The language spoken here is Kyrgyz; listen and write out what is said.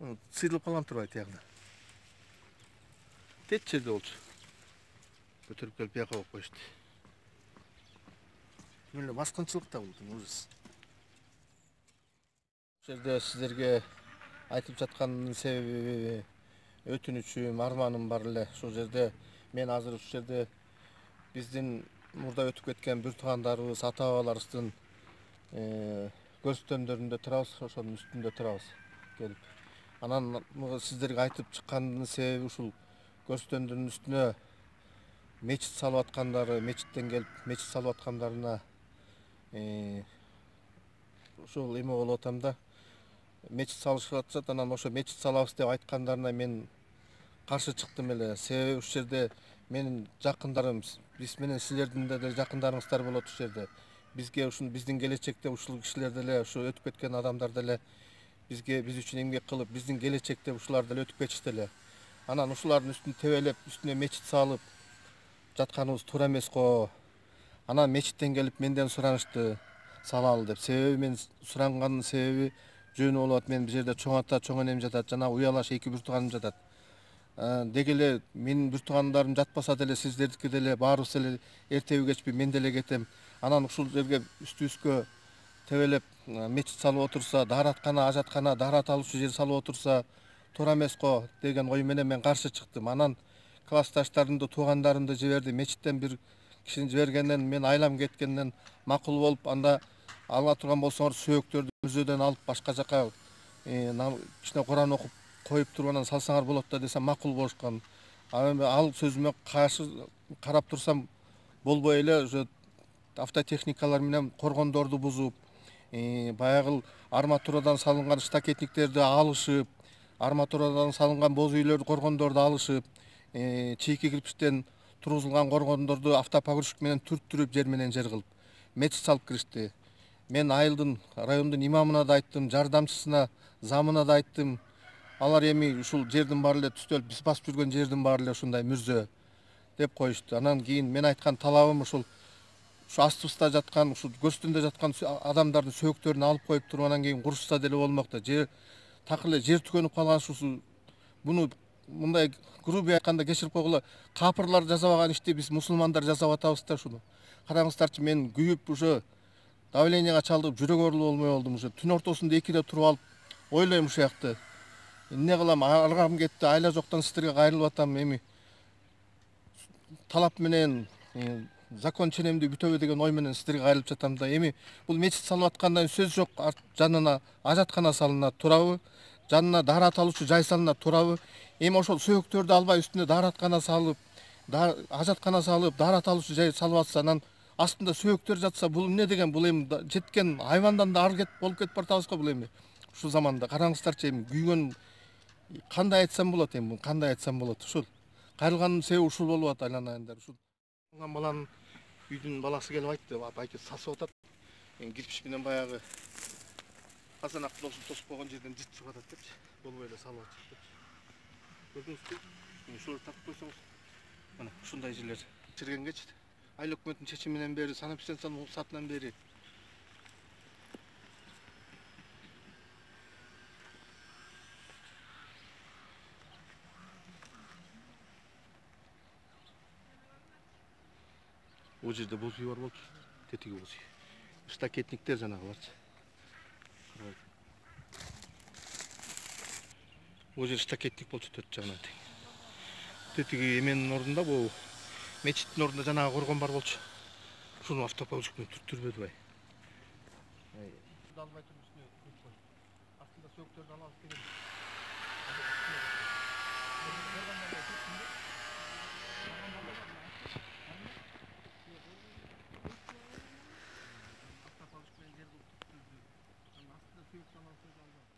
Сыйрылып калган турбайбы тиягына. Тет жерде болчу. Көтөрүп келип бияка коюп коюшту. Мына баскынчылык да бул ужас. Бул жерде сиздерге айтып жаткандын себеби өтүнүчүм, арманым бар эле. Ушул жерде мен азыр ушул жерде биздин мурда өтүп кеткен бир туугандарыбыз, ата бабаларыбыздын көрсөтөмдөрүндө турабыз, ошонун үстүндө турабыз келип. Анан сиздерге айтып чыккандын себеби ушул көрсөтөмдөрдүн үстүнө мечит салып аткандары, мечиттен келип мечит салып аткандарына ушул эме болуп атам да. Мечит салышып атышат, анан ошо мечит салабыз деп айткандарына мен каршы чыктым эле. Себеби ушул жерде менин жакындарым, биз менен силердин деле жакындарыңыздар болот ушул жерде. Бизге ушул биздин келечекте ушул кишилер деле, ушу өтүп кеткен адамдар деле биз үчүн эмгек кылып, биздин келечекте ушулар деле өтүп кетишти эле. Анан ушулардын үстүн тебелеп, үстүнө мечит салып жатканыбыз туура эмес го. Анан мечиттен келип менден суранышты салалы деп. Себеби мен суранганын себеби жөнү болуп атат. Мен бул жерде чоң ата, чоң энем жатат, жана уялаш 2 бир тууганым жатат. Деги эле менин бир туугандарым жатпаса деле сиздердики деле баарыбыз эле эртеби кечпи мен деле кетем. Анан ушул жерге үстүбүзгө тебелеп мечит салып отурса, даараткана, ажаткана, даарат алуучу жер салып отурса туура эмес го деген ой менен мен каршы чыктым. Анан классташтарымды, туугандарымды жиберди. Мечиттен бир кишини жибергенден мен айлам кеткенден макул болуп, анда ала турган болсоңор сөөктөрдү мүзөдөн алып башка жака кичине Куран окуп коюп туруп анан салсаңар болот да десем макул болушкан. Ал сөзүмө каршы карап турсам болбой эле уже автотехникалар менен коргондорду бузуп, баягы арматурадан салынган штакетниктерди алышып, арматурадан салынган боз үйлөрдү, коргондорду алышып, чийки кирпичтен тургузулган коргондорду автопогрузчик менен түрттүрүп жер менен жер кылып мечит салып киришти. Мен айылдын, райондун имамына да айттым, жардамчысына, замына да айттым. Алар эми ушул жердин баары эле түстөлүп, биз басып жүргөн жердин баары эле ушундай мүрзө деп коюшту. Анан кийин мен айткан талабым ушул астыбызда жаткан, ушул көрсөтөндө жаткан адамдардын сөөктөрүн алып коюп туруп анан кийин курушса деле болмок да. Жер такыр эле жер түгөнүп калган ушул буну мындай грубий айтканда кечирип койгула, капырлар жасабаган ишти биз мусулмандар жасап атабыз да ушуну. Караңыздарчы, мен күйүп уже давлениега чалдыгып жүрөк оорулуу болмой болдум уже. Түн ортосунда 2де туруп алып ойлойм ушул жакты. Эмне кылам, аргам кетти, айла жоктон сиздерге кайрылып атам. Эми талап менен закон ченемдүү бүтөбү деген ой менен сиздерге кайрылып жатам да. Эми бул мечит салып аткандан сөз жок. Жанына ажаткана салынат, туурабы? Жанына даарат алуучу жай салынат, туурабы? Эми ошол сөөктөрдү албай үстүнө даараткана салып, ажаткана салып, даарат алуучу жай салып атса, анан астында сөөктөр жатса, бул эмне деген? Бул эми жеткен айвандан да ар болуп кетип баратабыз го бул эми. Ушул заманда караңыздарчы, эми күйгөн кандай айтсам болот эми, кандай айтсам болот? Ушул кайрылганын себеби ушул болуп атат, айланайындар. Ушул баланын үйдүн баласы келип айтты, байке сасып атат. Кирпич менен баягы казанакты тосуп койгон жерден жыртып атат депчи. Болбой эле салып атышат депчи. Көрдүңүзбү? Ушуларды тартып койсоңуз, мына ушундай жерлер чиргенгечи. Айыл өкмөттүн чечиминен бери, санэпидстанциянын уруксатынан бери бул жерде боз үй бар болчу, тетиги боз үй. Штакетниктер жанагыларчы. Бул жер штакетник болчу, 4 жагынан тең. Тетиги эменин ордунда, бул мечиттин ордунда жанагы коргон бар болчу. Ушуну автопогрузчик менен түрттүрбөдү бай. Албай туруп үстүнө коюп кой. Астында сөөктөрдү алабыз деген. Автопогрузчик менен жер кылып түрттүрдү. Анан астында сөөк алабыз деп албай.